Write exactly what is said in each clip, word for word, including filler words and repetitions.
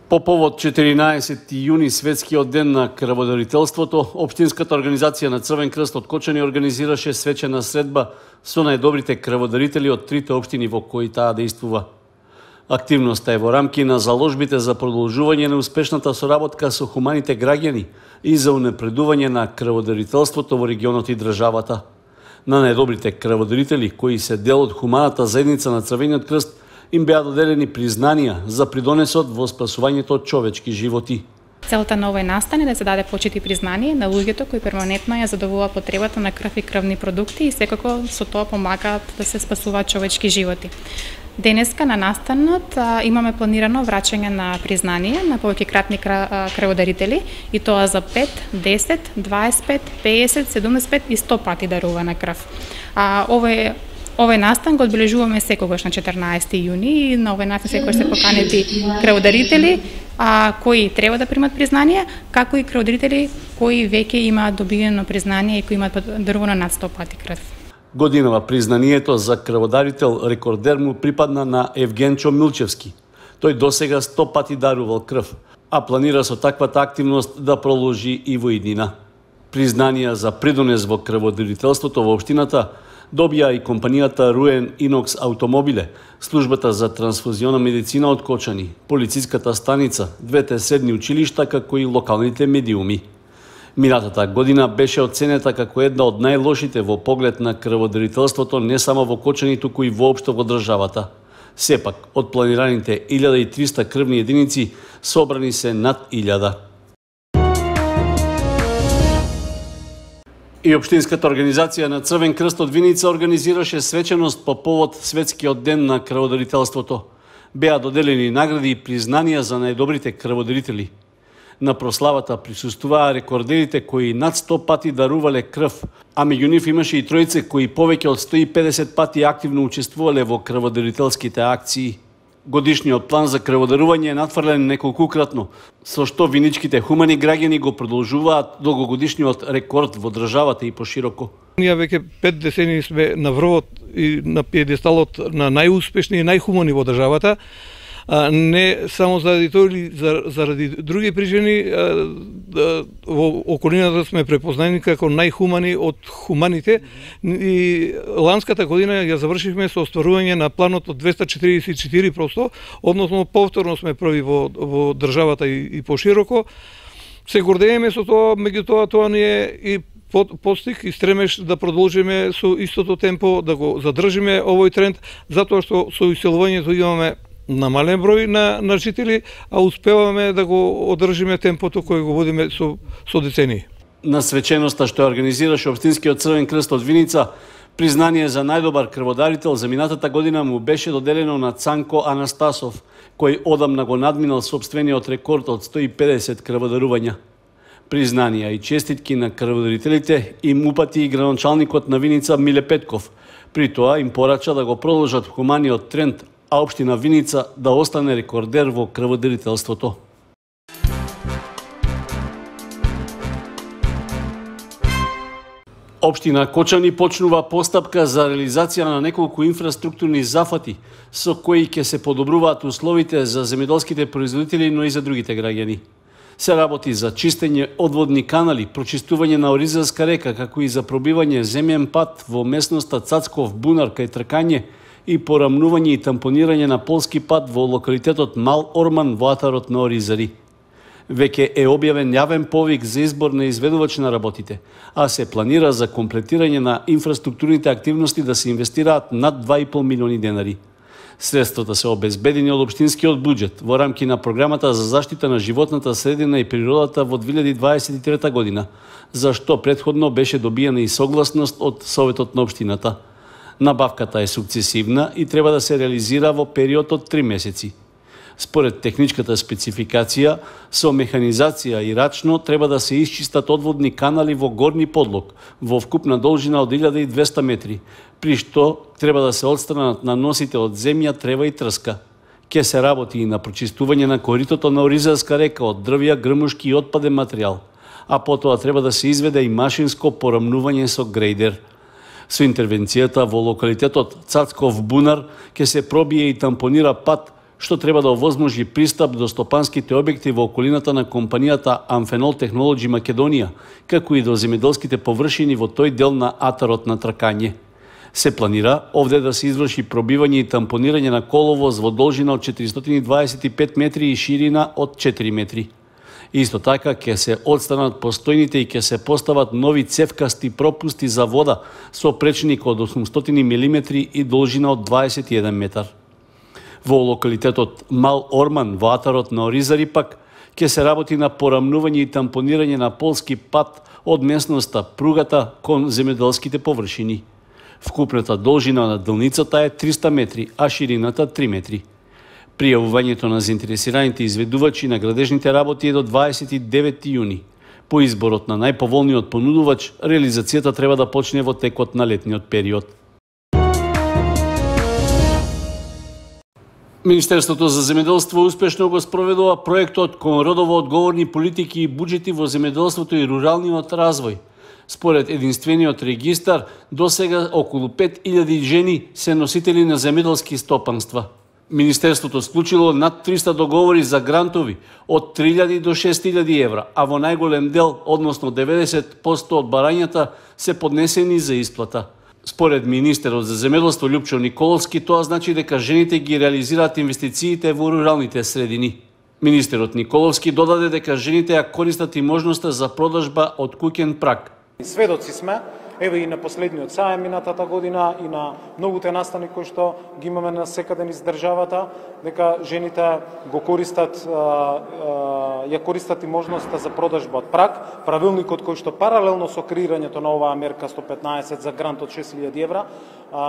По повод четиринаесети јуни, светскиот ден на крводарителството, Општинската организација на Црвен крст од Кочани организираше свечена средба со најдобрите крводарители од трите општини во кои таа действува. Активноста е во рамки на заложбите за продолжување на успешната соработка со хуманите граѓани и за унапредување на крводарителството во регионот и државата. На најдобрите крводарители, кои се дел од хуманата заедница на Црвениот крст, им беа доделени признанија за придонесот во спасувањето од човечки животи. Целта на овој настан е да се даде почит и признание на луѓето кои перманентно ја задоволуваат потребата на крв и крвни продукти и секако со тоа помагаат да се спасуваат човечки животи. Денеска на настанот а, имаме планирано враќање на признание на повеќекратни крводарители и тоа за пет, десет, дваесет пет, педесет, седумдесет пет и сто пати дарувана крв. А, овој Овој настан го одбележуваме секогаш на четирнаесети јуни и на овој настан секогаш се поканети крводарители а, кои треба да примат признание, како и крводарители кои веќе имаат добиено признание и кои имаат дарувано над сто пати крв. Годинава признанието за крводарител рекордер му припадна на Евгенчо Милчевски. Тој досега сто пати дарувал крв, а планира со таквата активност да продолжи и во иднина. Признанија за придонес во крводарителството во општината добија и компанијата Руен Инокс Автомобиле, службата за трансфузиона медицина од Кочани, полициската станица, двете средни училишта, како и локалните медиуми. Минатата година беше оценета како една од најлошите во поглед на крводарителството не само во Кочани, туку и воопшто во државата. Сепак, од планираните илјада и триста крвни единици, собрани се над илјада. И Општинската организација на Црвен крст од Виница организираше свеченост по повод светскиот ден на крводарителството. Беа доделени награди и признанија за најдобрите крводарители. На прославата присуствуваа рекордерите кои над сто пати дарувале крв, а меѓу нив имаше и тројце кои повеќе од сто и педесет пати активно учествувале во крводарителските акции. Годишниот план за крводарување е натврлен неколкукратно, со што виничките хумани граѓани го продолжуваат долгогодишниот рекорд во државата и пошироко. Ние веќе пет децении сме на врвот и на пиедесталот на најуспешни и најхумани во државата. А, не само заради тоа или заради други причини, во околината сме препознани како најхумани од хуманите и ланската година ја завршивме со остварување на планот од двеста четиридесет и четири проценти, односно повторно сме први во, во државата и, и пошироко. Се гордееме со тоа, меѓутоа тоа ни е и постиг и стремеш да продолжиме со истото темпо, да го задржиме овој тренд, затоа што со иселувањето имаме намален број на, на жители, а успеваме да го одржиме темпото кој го водиме со, со децении. На свеченоста што организираше Општинскиот Црвен крст од Виница, признание за најдобар крводарител за минатата година му беше доделено на Цанко Анастасов, кој одамна го надминал сопствениот рекорд од сто и педесет крводарувања. Признанија и честитки на крводарителите им упати и градоначалникот на Виница Миле Петков. При тоа им порача да го продолжат хуманиот тренд, а општина Виница да остане рекордер во крводарителството. Општина Кочани почнува постапка за реализација на неколку инфраструктурни зафати со кои ќе се подобруваат условите за земјоделските производители, но и за другите граѓани. Се работи за чистење одводни канали, прочистување на Оризарска река, како и за пробивање земјен пат во местноста Цацков бунар кај Тркање и порамнување и тампонирање на полски пат во локалитетот Мал Орман во атарот на Оризари. Веќе е објавен јавен повик за избор на изведувач на работите, а се планира за комплетирање на инфраструктурните активности да се инвестираат над два и пол милиони денари. Средствата се обезбедени од општинскиот буџет во рамки на програмата за заштита на животната средина и природата во две илјади дваесет и трета година, за што претходно беше добиена и согласност од Советот на општината. Набавката е сукцесивна и треба да се реализира во период од три месеци. Според техничката спецификација, со механизација и рачно треба да се исчистат одводни канали во горни подлог, во вкупна должина од илјада и двесте метри, при што треба да се отстранат наносите од земја, трева и трска. Ке се работи и на прочистување на коритото на Оризарска река од дрвја, грмушки и отпаден материјал, а потоа треба да се изведе и машинско порамнување со грейдер. Со интервенцијата во локалитетот Цацков бунар ке се пробие и тампонира пат што треба да овозможи пристап до стопанските објекти во околината на компанијата Amphenol Technology Македонија, како и до земјоделските површини во тој дел на атарот на тркање. Се планира овде да се изврши пробивање и тампонирање на коловоз во должина од четиристотини и дваесет и пет метри и ширина од четири метри. Исто така ќе се отстранат постојните и ќе се постават нови цевкасти пропусти за вода со пречник од осумстотини милиметри и должина од дваесет и еден метар. Во локалитетот Мал Орман во атарот на Оризари пак ќе се работи на порамнување и тампонирање на полски пат од местноста Пругата кон земјоделските површини. Вкупната должина на делницата е триста метри, а ширината три метри. Пријавувањето на заинтересираните изведувачи на градежните работи е до дваесет и девети јуни. По изборот на најповолниот понудувач, реализацијата треба да почне во текот на летниот период. Министерството за земјоделство успешно го спроведува проектот кон родово одговорни политики и буџети во земјоделството и руралниот развој. Според единствениот регистар, досега околу пет илјади жени се носители на земјоделски стопанства. Министерството склучило над триста договори за грантови од три илјади до шест илјади евра, а во најголем дел, односно деветдесет проценти од барањата, се поднесени за исплата. Според министерот за земјоделство Љупчо Николовски, тоа значи дека жените ги реализираат инвестициите во руралните средини. Министерот Николовски додаде дека жените ја користат и можноста за продажба од куќен праг. Сведоци сме, еве и на последниот саем минатата година и на многуте настани кои што ги имаме на секаде низ државата, дека жените го користат, ја користат и можноста за продажба од праг. Правилникот кој што паралелно со креирањето на оваа мерка сто петнаесет за грант од шест илјади евра,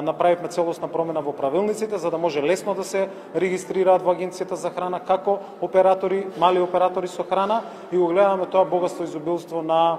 направивме целосна промена во правилниците за да може лесно да се регистрираат во Агенцијата за храна како оператори, мали оператори со храна, и го гледаме тоа богатство и изобилство на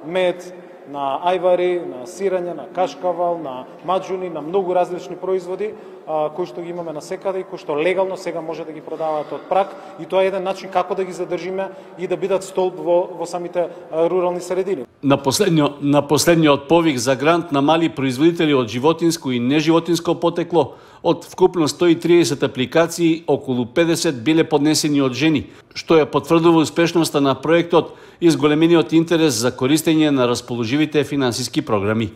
мед, на ајвари, на сирење, на кашкавал, на маџуни, на многу различни производи кои што ги имаме на секаде и кои што легално сега може да ги продаваат од праг, и тоа е еден начин како да ги задржиме и да бидат столб во, во самите рурални средини. На последниот, на последниот повик за грант на мали производители од животинско и неживотинско потекло, од вкупно сто и триесет апликации, околу педесет биле поднесени од жени, што ја потврдува успешноста на проектот и зголемениот интерес за користење на расположивите финансиски програми.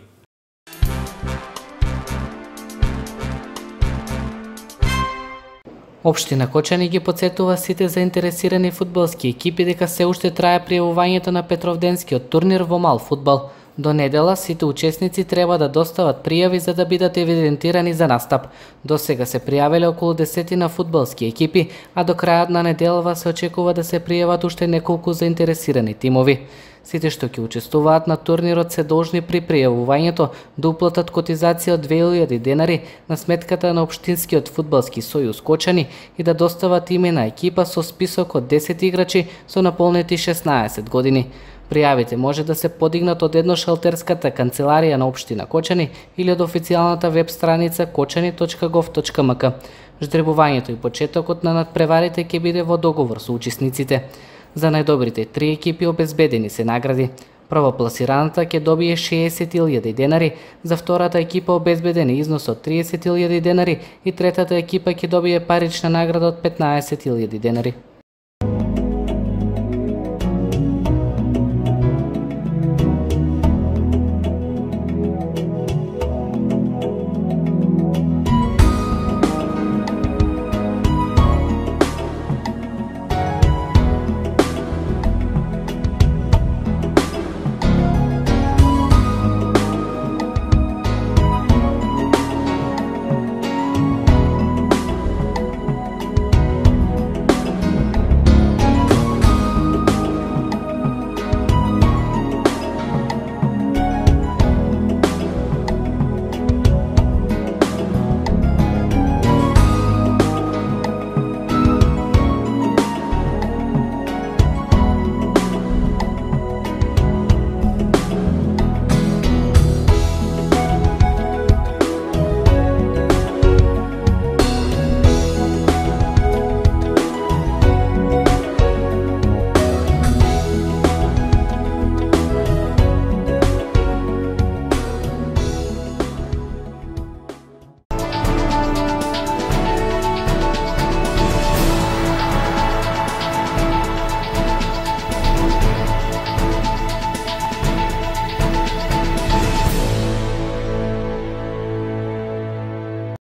Општина Кочани ги потсетува сите заинтересирани фудбалски екипи дека се уште трае пријавувањето на Петровденскиот турнир во мал фудбал. До недела сите учесници треба да достават пријави за да бидат евидентирани за настап. До сега се пријавиле околу десетина фудбалски екипи, а до крајот на неделава се очекува да се пријават уште неколку заинтересирани тимови. Сите што ќе учествуваат на турнирот се должни при пријавувањето да уплатат котизација од две илјади денари на сметката на Општинскиот фудбалски сојуз Кочани и да достават име на екипа со список од десет играчи со наполнети шеснаесет години. Пријавите може да се подигнат од едношалтерската канцеларија на Општина Кочани или од официјалната веб страница кочани точка гов точка ем ка. Ждребувањето и почетокот на надпреварите ќе биде во договор со учесниците. За најдобрите три екипи обезбедени се награди. Првопласираната ќе добие шеесет илјади денари, за втората екипа обезбеден износ од триесет илјади денари и третата екипа ќе добие парична награда од петнаесет илјади денари.